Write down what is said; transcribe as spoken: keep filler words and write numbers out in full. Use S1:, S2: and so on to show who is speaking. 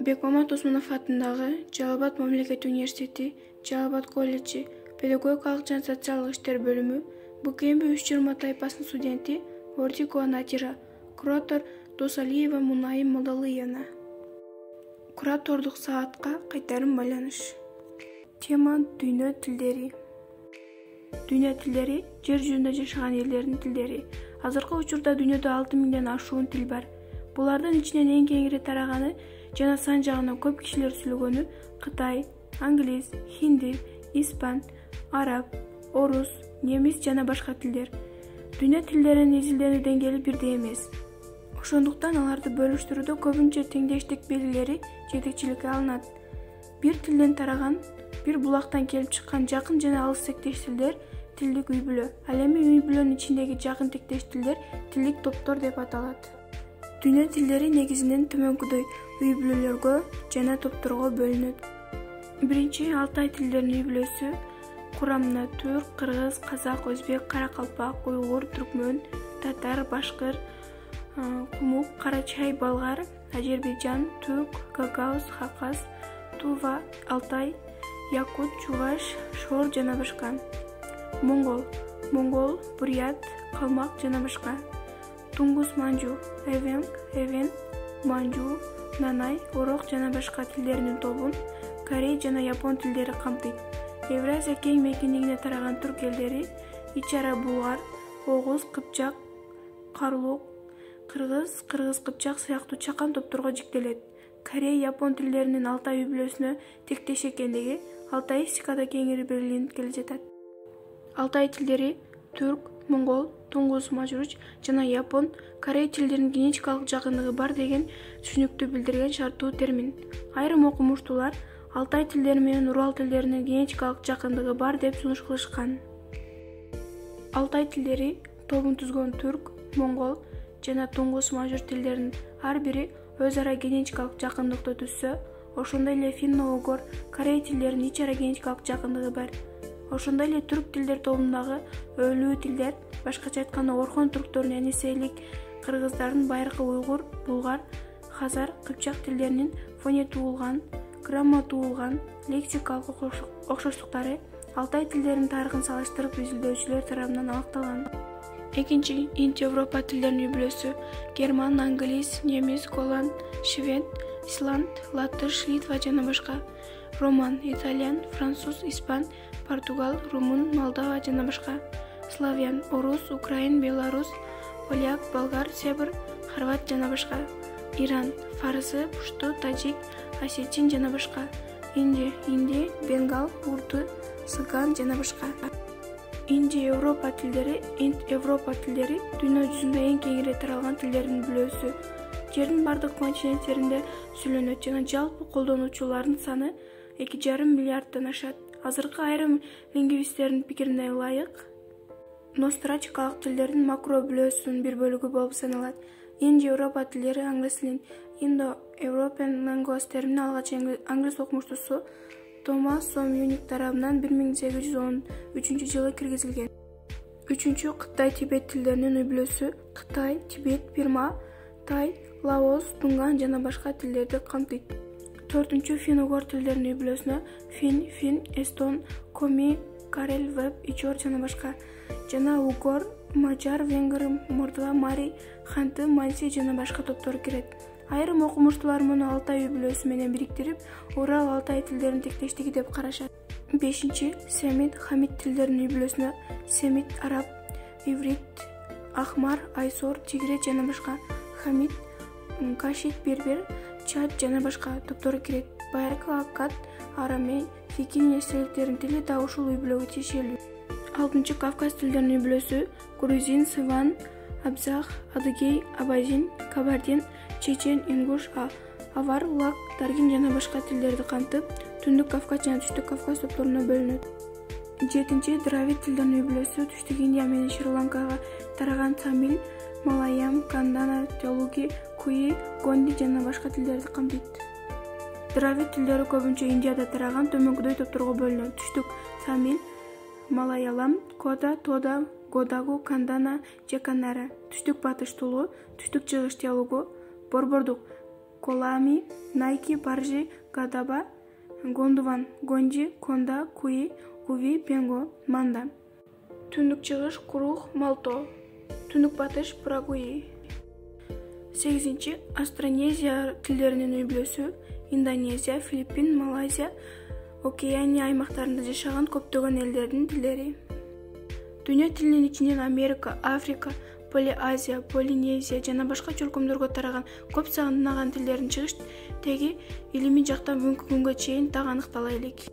S1: Бекмамат Осмонов атындагы Жалал Абад мамлекеттик университети, Жалал Абад колледжи, педагогикалык жана социалдык иштер бөлүмү, БКМБ үч жыйырма тайпасынын студенти Ортикова Натира, куратор Досалиева Мунайым Мадалыевна. Куратордук саатка кайтарым байланыш. Тема дүйнө тилдери. Дүйнө тилдери жер жүзүндө жашаган элдердин тилдери. Азыркы учурда дүйнөдө алты миңден ашуун тил бар. Булардын ичинен эң кеңири тараганы жана сан жагынан көп кишилер сүйлөгөнү кытай, англис, хинди, испан, араб, орус, немис жана башка тилдер. Дүйнө тилдеринин изилденүү деңгээли бирдей эмес. Ошондуктан аларды бөлүштүрүүдө көбүнчө теңдештик белгилери жетекчиликке алынат. Бир тилден тараган, бир булактан келип чыккан жакын жана алыс тектеш тилдер тилдик үй-бүлө. Ал эми үй-бүлөнүн ичиндеги жакын тектеш тилдер тилдик топтор деп аталат. Дүйнө тилдери негизинен төмөнкүдөй үй-бүлөлөргө жана топторго бөлүнөт. Биринчи Алтай тилдеринин үй-бүлөсү курамына түрк, кыргыз, казак, өзбек, каракалпак, уйгур, түркмөн, татар, башкыр, кумук, карачай, болгар, Азербайжан, тук, гагаuz, хакас, тува, алтай, якут, чуваш, шор жана башка. Монгол, монгол, бурят, калмак жана башка. Тунгус манжу, эвенг, эвен, манжу, нанай, орок жана башка тилдеринин тобун корей жана япон тилдери камтыйт. Евразия кең мекендигине тараган түрк элдери ич-ара булгар, огуз, кыпчак, карлук, кыргыз, кыргыз-кыпчак сыяктуу чакан топторго жиктелет. Корей, япон тилдеринин Алтай үй-бүлөсүнө тектеш экендиги алтаистикада кеңири белгиленип келе жатат. Алтай тилдери түрк, монгол, тунгус мажруч жана япон, корей тилдеринин генетикалык жакындыгы бар деген түшүнүктү билдирген шарттуу термин. Айрым окумуштуулар Алтай тилдери менен Урал тилдеринин генетикалык жакындыгы бар деп сунуш кылышкан. Алтай тилдери тобун түзгөн түрк, монгол жана тунгус мажур тилдеринин ар бири өз ара генетикалык жакындыкты түзсө, ошондой эле финно-угор, корей тилдеринин ич-ара генетикалык жакындыгы бар. Ошондой эле түрк тилдер тобундагы өлүү тилдер, башкача айтканда Орхон түрктөрүнүн энесейлик кыргыздардын байыркы уйгур, булгар, хазар, кыпчак тилдеринин фонетуулган, грамматуулган, лексикалык окшоштуктары Алтай тилдеринин тарыхын салыштырып изилдөөчүлөр тарабынан аныкталган. Экинчи Инд-Европа тилдеринин үй-бүлөсү герман, англис, немис, голланд, швед, исланд, латыш, литва жана башка. Роман, итальян, француз, испан, португал, румун, молдова жана башка. Славян, орус, украин, белорус, поляк, болгар, серб, хорват жана башка. Иран, фарсы, пушту, таджик, осетин жана башка. Инди, инди, бенгал, урду, цыган жана башка. Инди-Европа тилдери, Инд-Европа тилдери дүйнө жүзүндө эң кеңири таралган тилдердин бүлөсү. Жердин бардык континенттеринде сүйлөнөт жана жалпы колдонуучулардын саны эки жарым миллиарддан ашат. Азыркы айрым лингвисттердин пикирине ылайык, нострачкалык тилдердин макро бүлөсүнүн бир бөлүгү болуп саналат. Инди-Европа тилдери англис тилин Indo-European Language термини алгач англис окумуштуусу Томас Сом-Юник тарабынан бир миң сегиз жүз он үчүнчү жылы киргизилген. Үчүнчү Кытай-Тибет тилдеринин үй-бүлөсү Кытай, Тибет, Бирма, Тай, Лаос, Тунган жана башка тилдерди камтыйт. Төртүнчү Фин-угор тилдеринин үй-бүлөсүнө фин, фин, эстон, коми, карел, веб, ичор жана башка. Жана угор, мажар, венгр, мордва, мари, ханты, манси жана башка топтор кирет. Айрым окумуштуулар муну Алтай үй-бүлөсү менен бириктирип, Урал Алтай тилдеринин тектештиги деп карашат. Бешинчи Семит, Хамит тилдеринин үй-бүлөсүнө семит, араб, иврит, ахмар, айсор, тигрет жана башка. Хамит, кашит, бербер, чад жана башка топтору кирет. Байыркы аккад, арамей, фикин эстеликтердин тили да ушул үй-бүлөгө тиешелүү. Алтынчы Кавказ тилдеринин үй-бүлөсү грузин, сыван, абзах, адыгей, абазин, кабардин, чечен, ингуш, авар, лак, таргин жана башка тилдерди камтып, Түндүк Кавказ жана Түштүк Кавказ топторуна бөлүнөт. Жетинчи Дравид тилдеринин үй-бүлөсү Түштүк Индия менен Шри-Ланкага тараган тамил, малаям, кандана, телуги, куи, гонди жана башка тилдерди камтыйт. Дравид тилдери көбүнчө Индияда тараган төмөнкүдөй топторго бөлүнөт. Түштүк тамил, малаялам, кода, тода, годагу, кандана же канара. Түштүк батыш тулу, түштүк чыгыш телугу, борбордук Колами, Найки, Баржи, Гадаба, Гондуван, Гонди, Конда, Куи, Куви, Пенго, Манда. Түндүк чыгыш Курух, Малто. Түндүк батыш Парагуи. сегизинчи Астронезия тилдеринин үй-бүлөсү Индонезия, Филиппин, Малайзия, Океания аймактарында жашаган көптөгөн элдердин тилдери. Дүйнө тилинин ичинен Америка, Африка, Полиазия, Полинезия жана башка чөлкөмдөргө тараган көп санаган тилдердин чыгыш теги илимий жактан бүгүнкү күнгө чейин так аныктала элек.